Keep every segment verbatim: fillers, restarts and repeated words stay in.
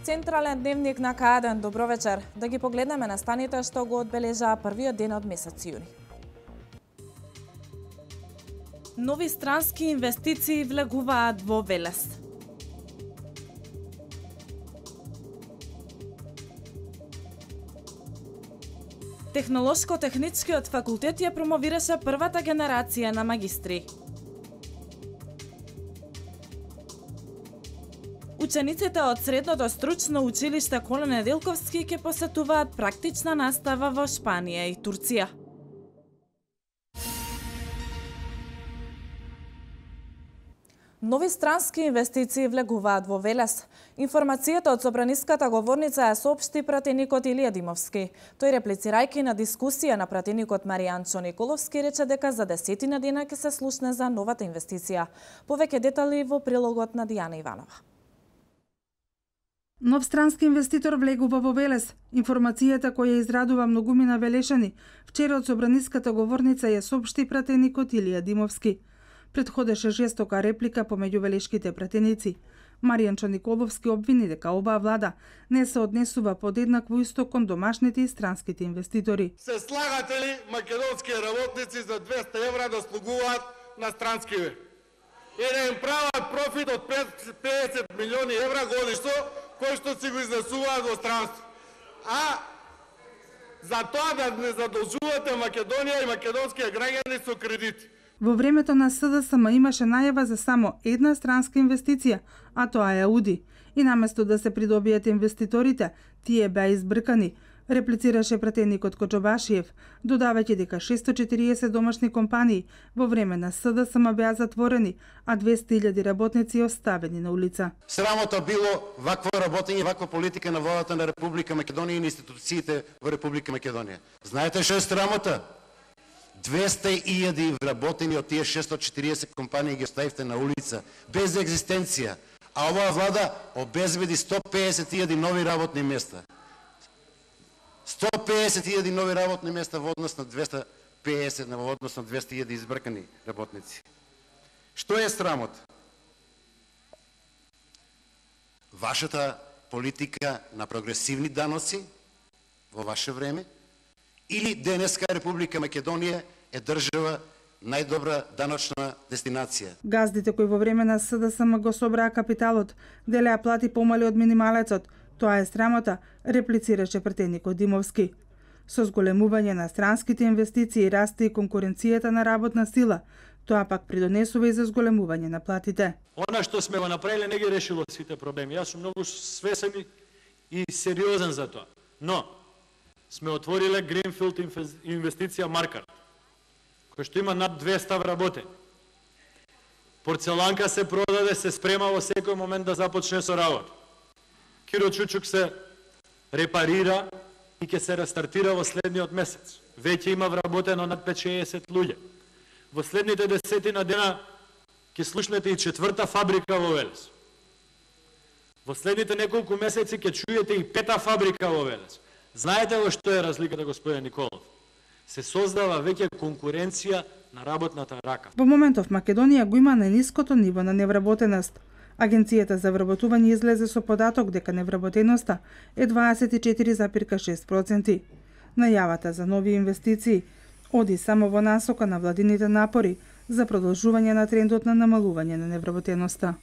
Централен дневник на К еден, добро вечер. Да ги погледнеме на станите што го одбележаа првиот ден од месец јуни. Нови странски инвестиции влегуваат во Велес. Технолошко-техничкиот факултет ја промовираше првата генерација на магистри. Учениците од средното стручно училиште Коле Неделковски ќе посетуваат практична настава во Шпанија и Турција. Нови странски инвестиции влегуваат во Велес. Информацијата од собраниската говорница ја соопшти пратеникот Илија Димовски. Тој, реплицирајќи на дискусија на пратеникот Маријанчо Николовски, рече дека за десетина дена ќе се слушне за новата инвестиција. Повеќе детали во прилогот на Дијана Иванова. Нов странски инвеститор влегува во Велес. Информацијата која израдува многумина Велешани, вчера од собраниската говорница ја соопшти пратеникот Илија Димовски. Предходеше жестока реплика помеѓу велешките пратеници. Маријанчо Николовски обвини дека оваа влада не се однесува подеднакво исто кон домашните и странските инвеститори. Се слагате ли македонски работници за двеста евра да слугуваат на странскиве? И да им прават профит од петдесет милиони евра годишно, кои што си го изнесуваат во странство. А за тоа да не задолжувате Македонија и македонските граѓани со кредити. Во времето на С Д С М имаше најава за само една странска инвестиција, а тоа е Ауди. И наместо да се придобијат инвеститорите, тие беа избркани, реплицираше пратеникот Коџобашиев, додавајќи дека шесто и четириесет домашни компании во време на С Д С М беа затворени, а двесте илјади работници оставени на улица. Срамота било вакво работење, ваква политика на владата на Република Македонија и на институциите во Република Македонија. Знаете што е срамота? двесте илјади вработени од тие шесто и четириесет компании ги оставивте на улица, без екзистенција, а оваа влада обезбеди сто и песет илјади нови работни места. сто и песет илјади нови работни места во однос на двесте и песет, во однос на двесте илјади избркани работници. Што е срамот? Вашата политика на прогресивни даноци во ваше време, или денеска Република Македонија е држава најдобра даночна дестинација. Газдите кои во време на С Д С М го собраа капиталот, делеа плати помали од минималецот. Тоа е срамота, реплицираше пратеникот Димовски. Со зголемување на странските инвестиции расте и конкуренцијата на работна сила. Тоа пак придонесува и за зголемување на платите. Она што сме го направиле не ги решило сите проблеми. Јас сум многу свесен и сериозен за тоа. Но сме отвориле Гринфилд инвестиција Маркар, кој што има над двесте вработени. Порцеланка се продаде, се спрема во секој момент да започне со работа. Киро Чучук се репарира и ќе се рестартира во следниот месец. Веќе има вработено над петдесет луѓе. Во следните десетина дена ќе слушнете и четврта фабрика во Велес. Во следните неколку месеци ќе чуете и пета фабрика во Велес. Знаете во што е разликата, господин Николов? Се создава веќе конкуренција на работната рака. Во моментов Македонија го има најниското ниво на невработеност. Агенцијата за вработување излезе со податок дека невработеноста е дваесет и четири зарез шест проценти. Најавата за нови инвестиции оди само во насока на владините напори за продолжување на трендот на намалување на невработеноста.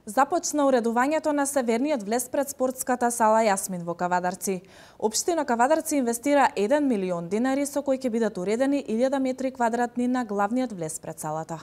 Започна уредувањето на северниот влез пред спортската сала Јасмин во Кавадарци. Општина Кавадарци инвестира еден милион динари со кои ќе бидат уредени илјада метри квадратни на главниот влез пред салата.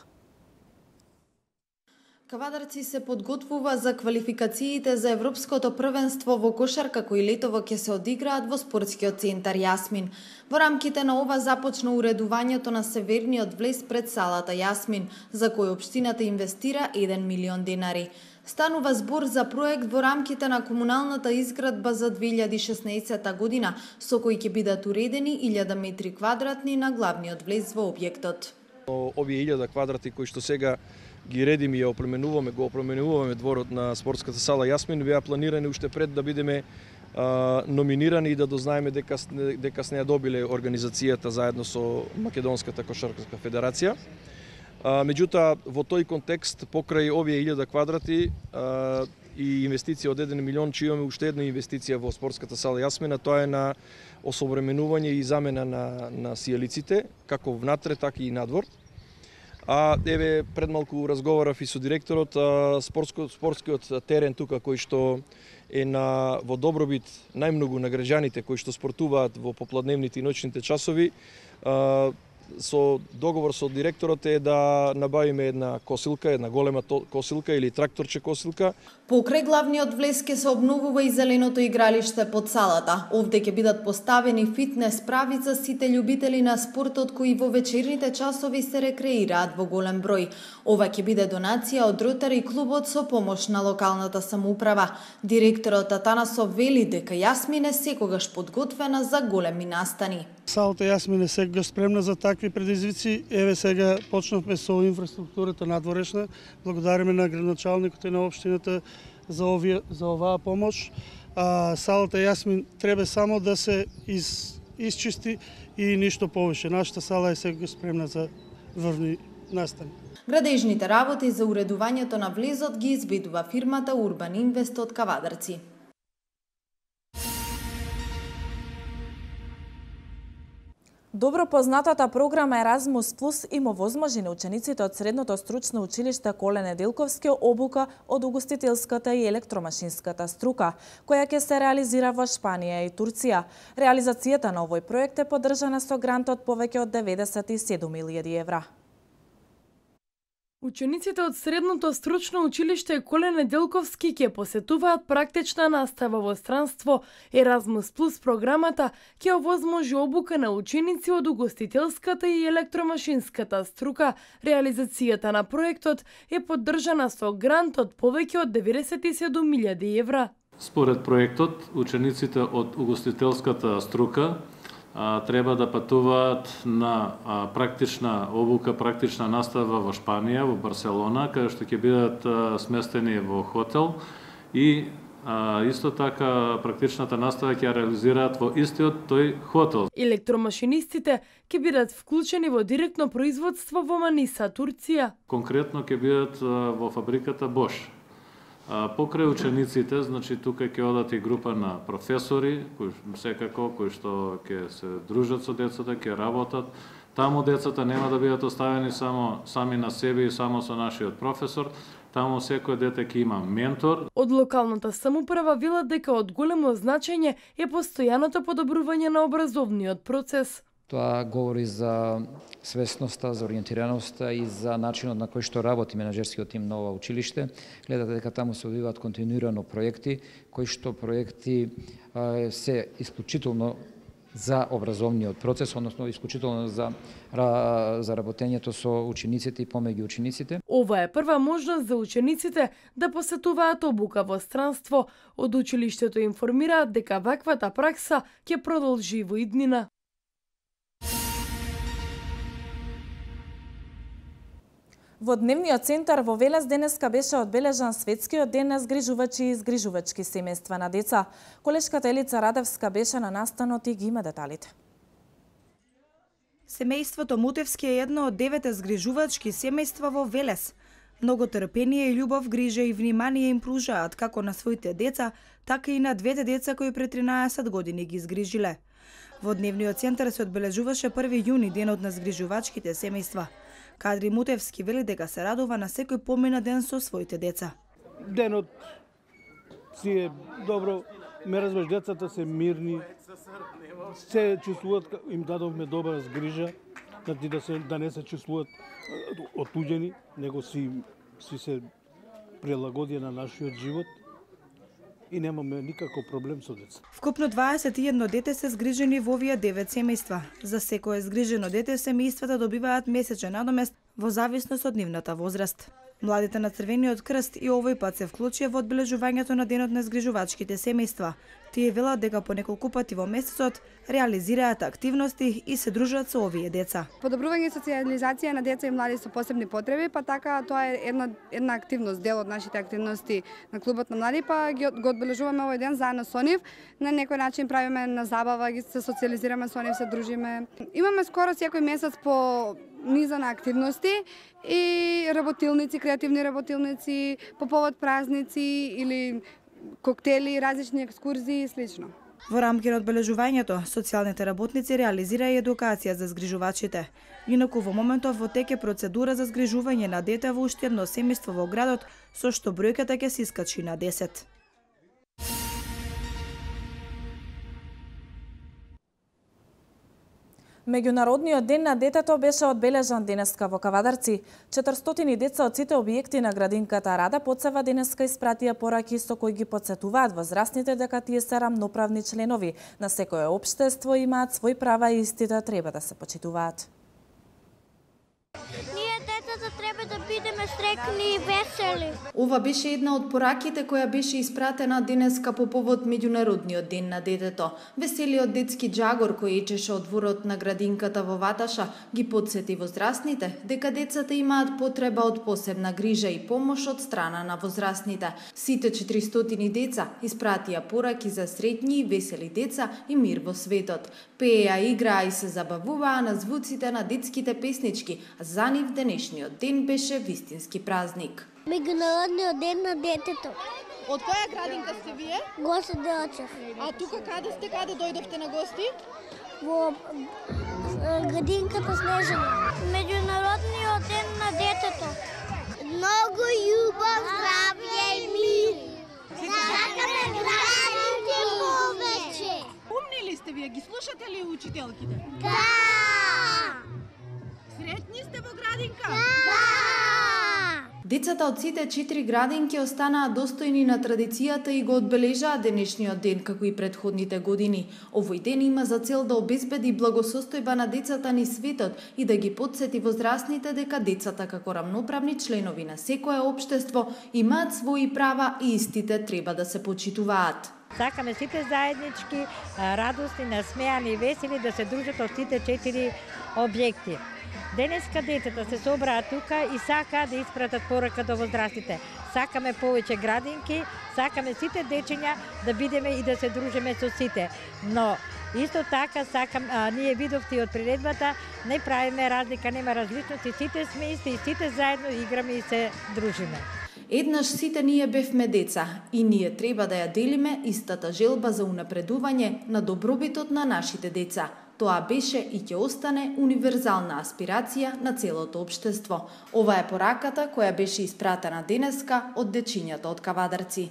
Кавадарци се подготвува за квалификациите за Европското првенство во кошарка кои летово ќе се одиграат во спортскиот центар Јасмин. Во рамките на ова започна уредувањето на северниот влез пред салата Јасмин, за кој општината инвестира еден милион динари. Станува збор за проект во рамките на комуналната изградба за две илјади и шеснаесетта година, со кој ќе бидат уредени илјада метри квадратни на главниот влез во објектот. Овие илјада квадрати кои што сега ги редиме и ја опременуваме, го опременуваме дворот на спортската сала Јасмин, беа планирани уште пред да бидеме а, номинирани и да дознаеме дека дека сне ја добиле организацијата заедно со Македонската кошаркарска федерација. Меѓутоа, во тој контекст, покрај овие илјада квадрати и инвестиција од еден милион, че имаме уште една инвестиција во спортската сала Јасмина, тоа е на осовременување и замена на, на сијалиците, како внатре, така и надвор. А еве пред малку разговарав и со директорот, спортско, спортскиот терен тука кој што е на во добробит најмногу на граѓаните кои што спортуваат во попладневните и ноќните часови. Со договор со директорот е да набавиме една косилка, една голема косилка или тракторче косилка. Покрај главниот влез ќе се обновува и зеленото игралиште под салата. Овде ќе бидат поставени фитнес прави за сите љубители на спортот кои во вечерните часови се рекреираат во голем број. Ова ќе биде донација од Ротари клубот со помош на локалната самоуправа. Директорот Атанасов вели дека Јасмин е секогаш подготвена за големи настани. Салата Јасмин е секогаш спремна за такви предизвици. Еве сега почнавме со инфраструктурата надворешна. Благодариме на градоначалникот и на општината за овие за оваа помош. А, салата Јасмин треба само да се из, изчисти и ништо повеќе. Нашата сала е секогаш спремна за врвни настани. Градежните работи за уредувањето на влезот ги изведува фирмата Урбан Инвест од Кавадарци. Добро познатата програма Еразмус Плюс има возможи на учениците од Средното стручно училиште Коле Неделковски обука од угостителската и електромашинската струка, која ќе се реализира во Шпанија и Турција. Реализацијата на овој проект е поддржана со грант од повеќе од деветдесет и седум илјади евра. Учениците од Средното стручно училиште Коле Неделковски ќе посетуваат практична настава во странство. Еразмус Плюс програмата ќе овозможи обука на ученици од угостителската и електромашинската струка. Реализацијата на проектот е поддржана со грант од повеќе од деветдесет и седум илјади евра. Според проектот, учениците од угостителската струка треба да патуваат на практична обука, практична настава во Шпанија, во Барселона, каде што ќе бидат сместени во хотел и исто така практичната настава ќе реализираат во истиот тој хотел. Електромашинистите ќе бидат вклучени во директно производство во Маниса, Турција. Конкретно ќе бидат во фабриката Bosch. Покрај учениците, значи тука ќе одат и група на професори, кои секако кои што ќе се дружат со децата, ќе работат. Таму децата нема да бидат оставени само сами на себе и само со нашиот професор. Таму секој дете ќе има ментор. Од локалната самоуправа велат дека од големо значење е постојаното подобрување на образовниот процес. Тоа говори за свесноста, за ориентираноста и за начинот на кој што работи менаџерскиот тим на ова училиште. Гледате дека таму се одвиваат континуирано проекти, кои што проекти а, се исклучително за образовниот процес, односно исклучително за, за работењето со учениците и помеѓу учениците. Ова е прва можност за учениците да посетуваат обука во странство. Од училиштето информираат дека ваквата пракса ќе продолжи во иднина. Во Дневниот центар во Велес денеска беше одбележан светскиот ден на згрижувачи и згрижувачки семејства на деца. Колешката Елица Радевска беше на настанот и ги има деталите. Семејството Мутевски е едно од девете згрижувачки семејства во Велес. Многу трпение и љубов, грижа и внимание им пружаат како на своите деца, така и на двете деца кои пред тринаесет години ги згрижиле. Во Дневниот центар се одбележуваше први јуни, денот на згрижувачките семејства. Кадри Мутевски вели дека се радува на секој помина ден со своите деца. Денот си е добро, ме разбраш, децата се мирни, се чувствуваат, им дадовме добра згрижа, да, се, да не се чувствуваат отуѓени, него си, си се прилагодија на нашиот живот и немаме никаков проблем со деца. Вкупно дваесет и едно дете се згрижени во овие девет семејства. За секое згрижено дете семејствата добиваат месечен надомест во зависност од нивната возраст. Младите на Црвениот крст и овој пат се вклучија во одбележувањето на денот на згрижувачките семејства. Тие велат дека по неколку пати во месецот реализираат активности и се дружат со овие деца. Подобрување социјализација на деца и млади со посебни потреби, па така тоа е една една активност, дел од нашите активности на клубот на млади, па ги го одбележуваме овој ден заедно со нив. На некој начин правиме на забава, ги се социјализираме со нив, се дружиме. Имаме скоро секој месец по низа на активности и работилници, креативни работилници, по повод празници или коктели, различни екскурзии и слично. Во рамки на одбележувањето, социјалните работници реализира и едукација за згрижувачите. Инаку во моментов во тек е процедура за згрижување на дете во уште едно семејство во градот, со што бројката ќе се искачи на десет. Меѓународниот ден на детето беше одбележан денеска во Кавадарци. четиристотини деца од сите објекти на градинката Рада Поцева денеска испратија пораки со кои ги потсетуваат возрастните дека тие се рамноправни членови на секое општество, имаат своји права и истите треба да се почитуваат. Ние децата треба да бидеме среќни и весели. Ова беше една од пораките која беше испратена денеска по повод Меѓународниот ден на детето. Веселиот детски джагор кој ечеше од дворот на градинката во Ваташа ги потсети возрастните дека децата имаат потреба од посебна грижа и помош од страна на возрастните. Сите четиристотини деца испратија пораки за среќни и весели деца и мир во светот. Пееа, играа и се забавуваа на звуците на детските песнички, а за нив денешниот ден беше вистински празник. Меѓународниот ден на детето. Од која градинка сте вие? Госе Делчев. А тука каде сте, каде дојдовте на гости? Во градинката Снежана. Меѓународниот ден на детето. Многу љубов, здравје и мир. Сакаме градинки повеќе. Умни ли сте вие? Ги слушате ли учителките? Да! Среќни сте во градинка? Да! Децата од сите четири градинки останаа достојни на традицијата и го одбележаа денешниот ден како и претходните години. Овој ден има за цел да обезбеди благосостојба на децата низ светот и да ги потсети возрастните дека децата како рамноправни членови на секое општество имаат своји права и истите треба да се почитуваат. Сакаме сите заеднички, радосни, насмеани и весели да се дружат од сите четири објекти. Денеска децата се собраа тука и сакаа да испратат порака до возрастите. Сакаме повеќе градинки, сакаме сите дечиња да бидеме и да се дружиме со сите. Но исто така сакам, а, ние видовте и од приредбата, не правиме разлика, нема различности, сите сме исти и сите заедно играме и се дружиме. Еднаш сите ние бевме деца и ние треба да ја делиме истата желба за унапредување на добробитот на нашите деца. Тоа беше и ќе остане универзална аспирација на целото општество. Ова е пораката која беше испратена денеска од дечињата од Кавадарци.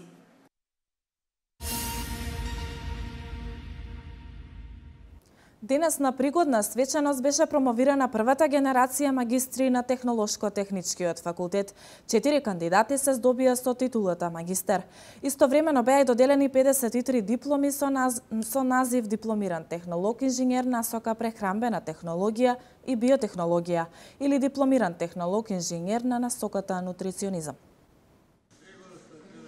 Денес на пригодна свеченост беше промовирана првата генерација магистри на Технолошко-техничкиот факултет. Четири кандидати се здобија со титулата магистер. Истовремено беа и доделени педесет и три дипломи со, наз... со назив дипломиран технолог инженер насока прехранбена технологија и биотехнологија или дипломиран технолог инженер на насоката нутриционизам.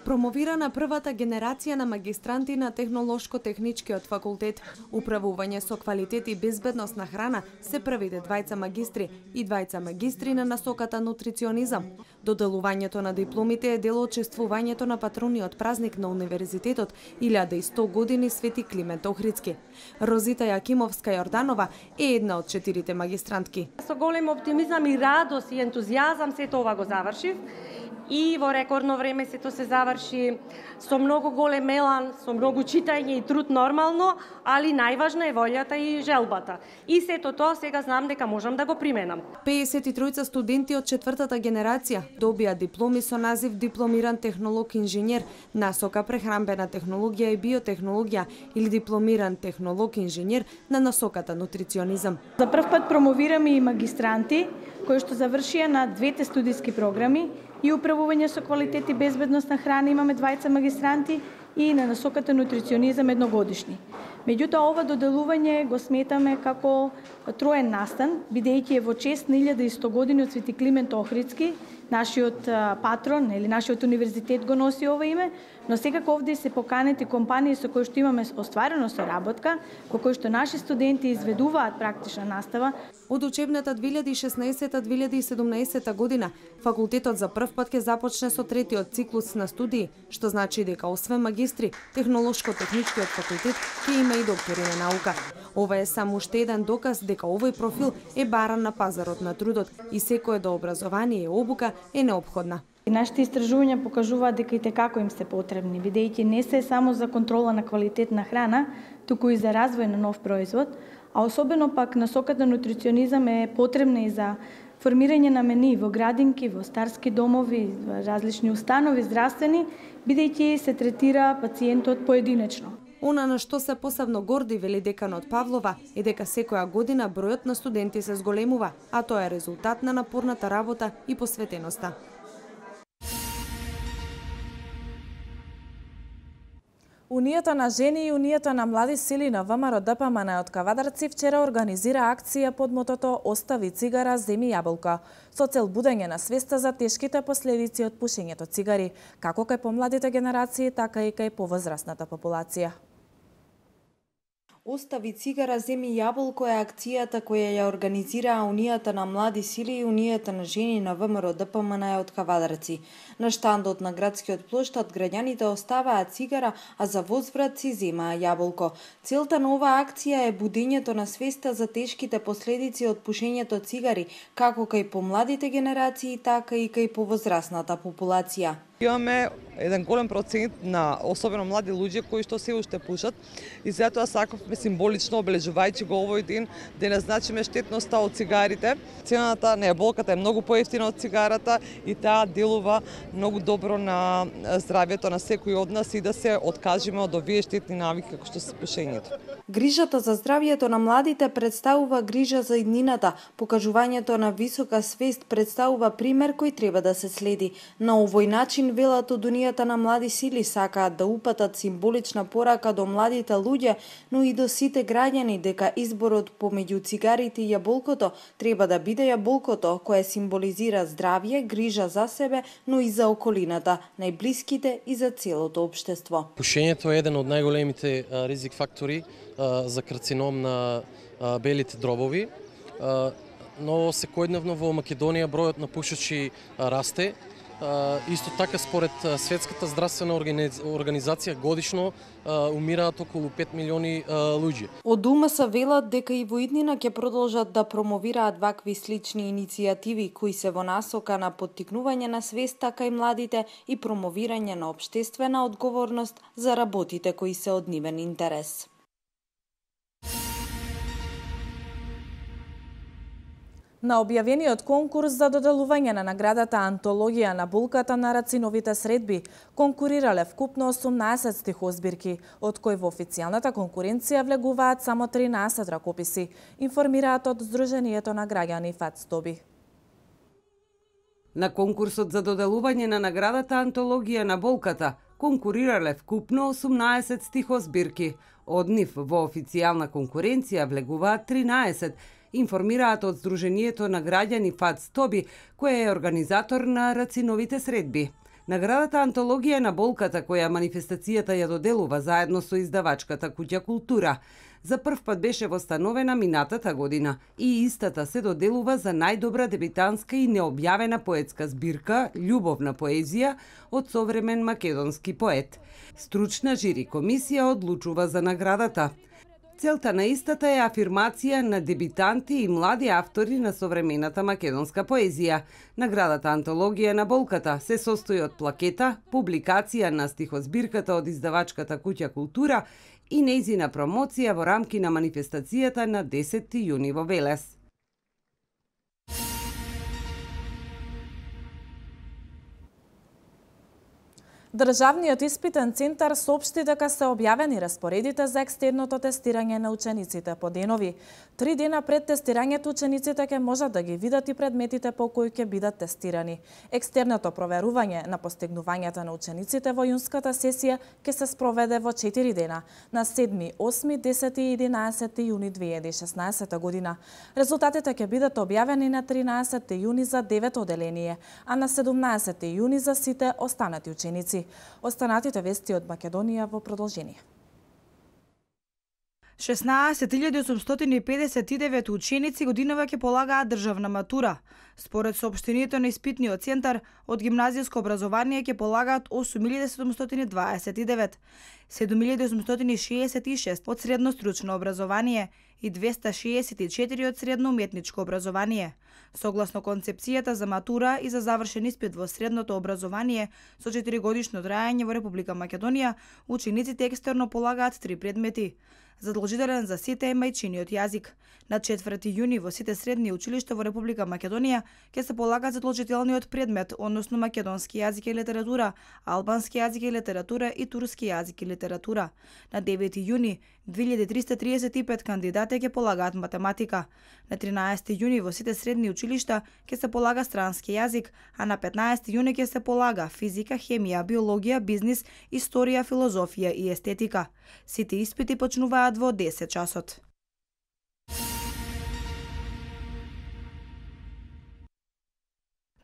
Промовирана првата генерација на магистранти на Технолошко-техничкиот факултет. Управување со квалитет и безбедност на храна се првите двајца магистри и двајца магистри на насоката нутриционизам. Доделувањето на дипломите е дел од чествувањето на патрониот празник на Универзитетот илјада и сто години Свети Климент Охридски. Розита Јакимовска Јорданова е една од четирите магистрантки. Со голем оптимизам и радост и ентузијазам сето ова го завршив. И во рекордно време сето се заврши со многу голем елан, со многу читање и труд нормално, али најважна е волјата и желбата. И сето тоа сега знам дека можам да го применам. педесет и тројца студенти од четвртата генерација добија дипломи со назив дипломиран технолог инженер насока прехранбена технологија и биотехнологија или дипломиран технолог инженер на насоката нутриционизам. За прв пат промовираме и магистранти кои што завршија на двете студиски програми и управување со квалитет и безбедност на храна имаме двајца магистранти и на насоката нутриционизам едногодишни. Меѓутоа, ова доделување го сметаме како троен настан, бидејќи е во чест на илјада и сто години од Свети Климент Охридски, нашиот патрон или нашиот универзитет го носи ова име, но секако овде се поканети компании со кои што имаме остварено соработка, кои што наши студенти изведуваат практична настава. Од учебната две илјади и шеснаесета две илјади и седумнаесета година, факултетот за прв пат ќе започне со третиот циклус на студии, што значи дека освен магистри, Технолошко-техничкиот факултет ќе има и доктори на наука. Ова е само уште еден доказ дека овој профил е баран на пазарот на трудот и секое до образование и обука е неопходна. Нашите истражувања покажуваат дека и текако им се потребни, бидејќи не се само за контрола на квалитет на храна, туку и за развој на нов производ, а особено пак насоката нутриционизам е потребна и за формирање на мени во градинки, во старски домови, во различни установи здравствени, бидејќи се третира пациентот поединечно. Она на што се посебно горди, вели деканот Павлова, е дека секоја година бројот на студенти се зголемува, а тоа е резултат на напорната работа и посветеноста. Унијата на жени и Унијата на млади сили на ВМРО Д П М Н од Кавадарци вчера организира акција под мотото "Остави цигара, земи јаболка", со цел будење на свеста за тешките последици од пушењето цигари, како кај помладите генерации, така и кај повозрасната популација. Остави цигара, земи јаболко е акцијата која ја организираа Унијата на млади сили и Унијата на жени на ВМРО Д П М Н од Кавадарци. На штандот на градскиот плоштад граѓаните оставаа цигара, а за возврат си земаа јаболко. Целта на оваа акција е будењето на свеста за тешките последици од пушењето цигари, како кај помладите генерации, така и кај повозрасната популација. Имаме еден голем процент на особено млади луѓе кои што се уште пушат и затоа сакавме символично обележувајќи го овој ден да назначиме штетноста од цигарите. Цената на јаболката е многу поевтина од цигарата и таа делува многу добро на здравјето на секој од нас и да се откажеме од овие штетни навики како што се пушењето. Грижата за здравјето на младите представува грижа за иднината. Покажувањето на висока свест представува пример кој треба да се следи. На овој начин велат од Унијата на млади сили сакаат да упатат символична порака до младите луѓе, но и до сите граѓани дека изборот помеѓу цигарите и јаболкото треба да биде јаболкото, кое символизира здравје, грижа за себе, но и за околината, најблиските и за целото општество. Пушењето е еден од најголемите ризик фактори за карцином на белите дробови, но секојдневно во Македонија бројот на пушачи расте. Исто така, според Светската здравствена организација, годишно умираат околу пет милиони луѓе. Од УМС велат дека и во иднина ќе продолжат да промовираат вакви слични иницијативи кои се во насока на поттикнување на свеста кај младите и промовирање на општествена одговорност за работите кои се од нивен интерес. На објавениот конкурс за доделување на наградата Антологија на булката на рациновите средби конкурирале вкупно осумнаесет стихозбирки, од кои во официјалната конкуренција влегуваат само тринаесет ракописи, информираат од Сдруженијето на граѓани ФАЦ-Тоби. На конкурсот за доделување на наградата Антологија на болката конкурирале вкупно осумнаесет стихозбирки, од нив во официјална конкуренција влегуваат тринаесет, информираат од Сдруженијето на граѓани ФАЦ-Тоби, кој е организатор на рациновите средби. Наградата Антологија на болката, која манифестацијата ја доделува заедно со издавачката Куќа Култура, за прв пат беше востановена минатата година и истата се доделува за најдобра дебитанска и необјавена поетска збирка Љубовна поезија од современ македонски поет. Стручна жири комисија одлучува за наградата. Целта на истата е афирмација на дебитанти и млади автори на современата македонска поезија. Наградата Антологија на болката се состои од плакета, публикација на стихозбирката од издавачката Куќа Култура и нејзина промоција во рамки на манифестацијата на десети јуни во Велес. Државниот испитен центар соопшти дека се објавени распоредите за екстерното тестирање на учениците по денови. Три дена пред тестирањето учениците ќе можат да ги видат и предметите по кои ќе бидат тестирани. Екстерното проверување на постигнувањата на учениците во јунската сесија ќе се спроведе во четири дена, на седми, осми, десети и единаесети јуни две илјади и шеснаесета година. Резултатите ќе бидат објавени на тринаесети јуни за девето оделение, а на седумнаесети јуни за сите останати ученици. Останатите вести од Македонија во продолжение. шеснаесет илјади осумстотини и педесет и девет ученици годинава ќе полагаат државна матура. Според соопштението на испитниот центар, од гимназијско образование ќе полагаат осум илјади седумстотини дваесет и девет, седум илјади осумстотини шеесет и шест од средно стручно образование и двеста шеесет и четири од средно уметничко образование. Согласно концепцијата за матура и за завршен испит во средното образование со четири годишно траење во Република Македонија, учениците екстерно полагаат три предмети. Задолжителен за сите е мајчиниот јазик. На четврти јуни во сите средни училишта во Република Македонија ќе се полага задолжителниот предмет, односно македонски јазик и литература, албански јазик и литература и турски јазик и литература. На девети јуни две илјади триста триесет и пет кандидати ќе полагаат математика. На тринаесети јуни во сите средни училишта ќе се полага странски јазик, а на петнаесети јуни ќе се полага физика, хемија, биологија, бизнис, историја, филозофија и естетика. Сите испити почнуваат во десет часот.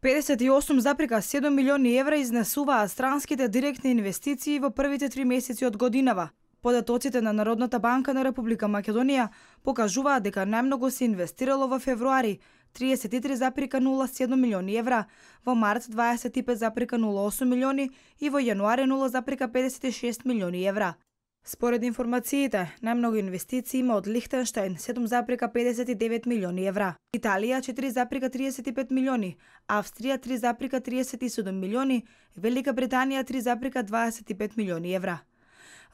педесет и осум запирка седум милиони евра изнесуваат странските директни инвестиции во првите три месеци од годинава. Податоците на Народната банка на Република Македонија покажуваат дека најмногу се инвестирало во февруари триесет и три запирка нула седум милиони евра, во март дваесет и пет запирка нула осум милиони и во јануари нула запирка педесет и шест милиони евра. Според информациите, најмногу инвестиции има од Лихтенштајн седум запирка педесет и девет милиони евра, Италија четири запирка триесет и пет милиони, Австрија три запирка триесет и седум милиони, Велика Британија три запирка дваесет и пет милиони евра.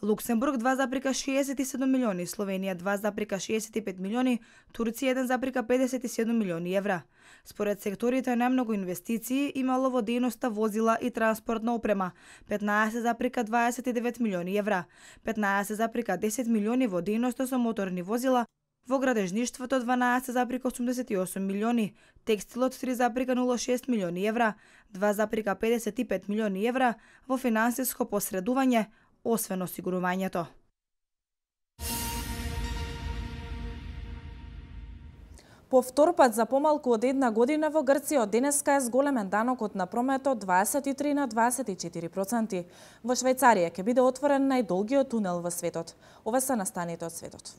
Луксембург два запирка шеесет и седум милиони, Словенија два запирка шеесет и пет милиони, Турција еден запирка педесет и седум милиони евра. Според секторите најмногу инвестиции имало во дејноста возила и транспортна опрема петнаесет запирка дваесет и девет милиони евра, петнаесет запирка десет милиони во дејноста со моторни возила, во градежништвото дванаесет запирка осумдесет и осум милиони, текстилот три запирка нула шест милиони евра, два запирка педесет и пет милиони евра, во финансиско посредување, освен осигурувањето. По втор пат за помалку од една година во Грција од денеска е зголемен данокот на прометот дваесет и три на дваесет и четири проценти. Во Швајцарија ќе биде отворен најдолгиот тунел во светот. Ова се настаните од светот.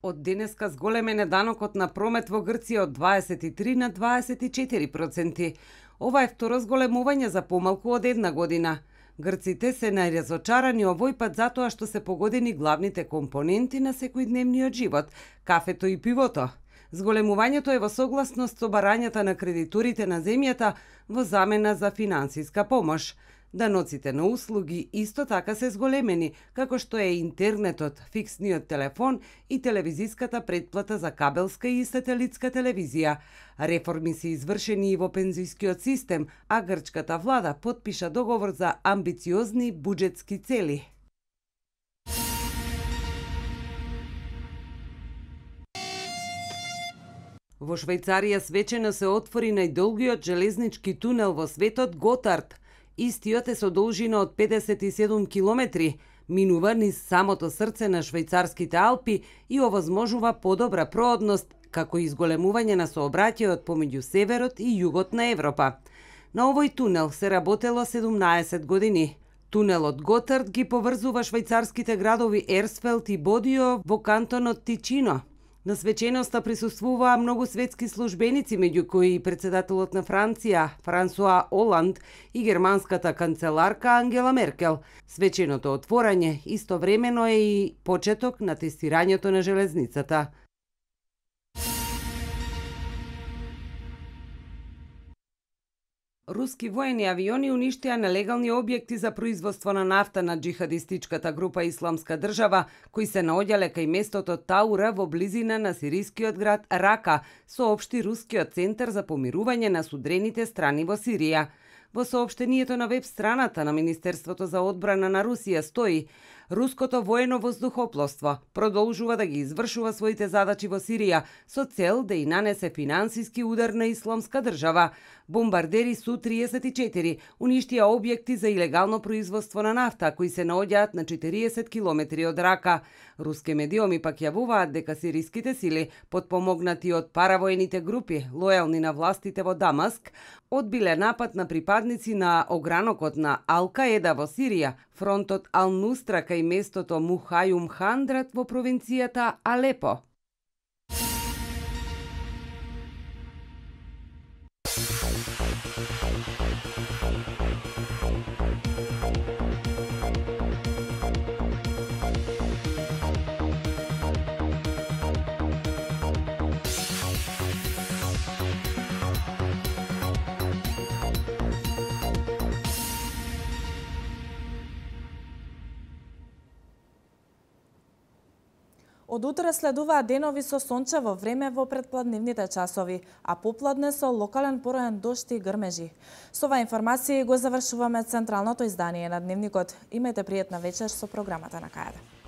Од денеска зголемен е данокот на промет во Грција од дваесет и три на дваесет и четири проценти. Ова е второ зголемување за помалку од една година. Грците се најразочарани овој пат затоа што се погодени главните компоненти на секојдневниот живот – кафето и пивото. Зголемувањето е во согласност со барањата на кредиторите на земјата во замена за финансиска помош. Даноците на услуги исто така се зголемени, како што е интернетот, фиксниот телефон и телевизиската претплата за кабелска и сателитска телевизија. Реформи се извршени и во пензискиот систем, а грчката влада потпиша договор за амбициозни буџетски цели. Во Швајцарија свечено се отвори најдолгиот железнички тунел во светот Готард. Истиот е со должина од педесет и седум километри, минува низ самото срце на швајцарските Алпи и овозможува подобра проодност, како и изголемување на сообраќајот помеѓу северот и југот на Европа. На овој тунел се работело седумнаесет години. Тунелот Готард ги поврзува швајцарските градови Ерсфелд и Бодио во кантонот Тичино. На свеченоста присуствуваа многу светски службеници, меѓу кои и председателот на Франција, Франсуа Оланд, и германската канцеларка Ангела Меркел. Свеченото отворање истовремено е и почеток на тестирањето на железницата. Руски воени авиони уништија нелегални објекти за производство на нафта на џихадистичката група Исламска држава, кои се наоѓале кај местото Таура во близина на сирискиот град Рака, соопшти Рускиот центар за помирување на судрените страни во Сирија. Во соопштението на веб страната на Министерството за одбрана на Русија стои: Руското воено воздухопловство продолжува да ги извршува своите задачи во Сирија со цел да и нанесе финансиски удар на Исламска држава. Бомбардери Су триесет и четири уништија објекти за илегално производство на нафта кои се наоѓаат на четириесет километри од Рака. Руски медиуми пак јавуваат дека сириските сили, подпомогнати од паравоените групи лојални на властите во Дамаск, одбиле напад на припадници на огранокот на Ал-Каеда во Сирија, фронтот Ал-Нустра кај местото Мухајум Хандрат во провинцијата Алепо. Од утре следуваат денови со сончево време во предпладневните часови, а попладне со локален пороен дожд и грмежи. Со оваа информација го завршуваме централното издание на Дневникот. Имајте пријатна вечер со програмата на КАД.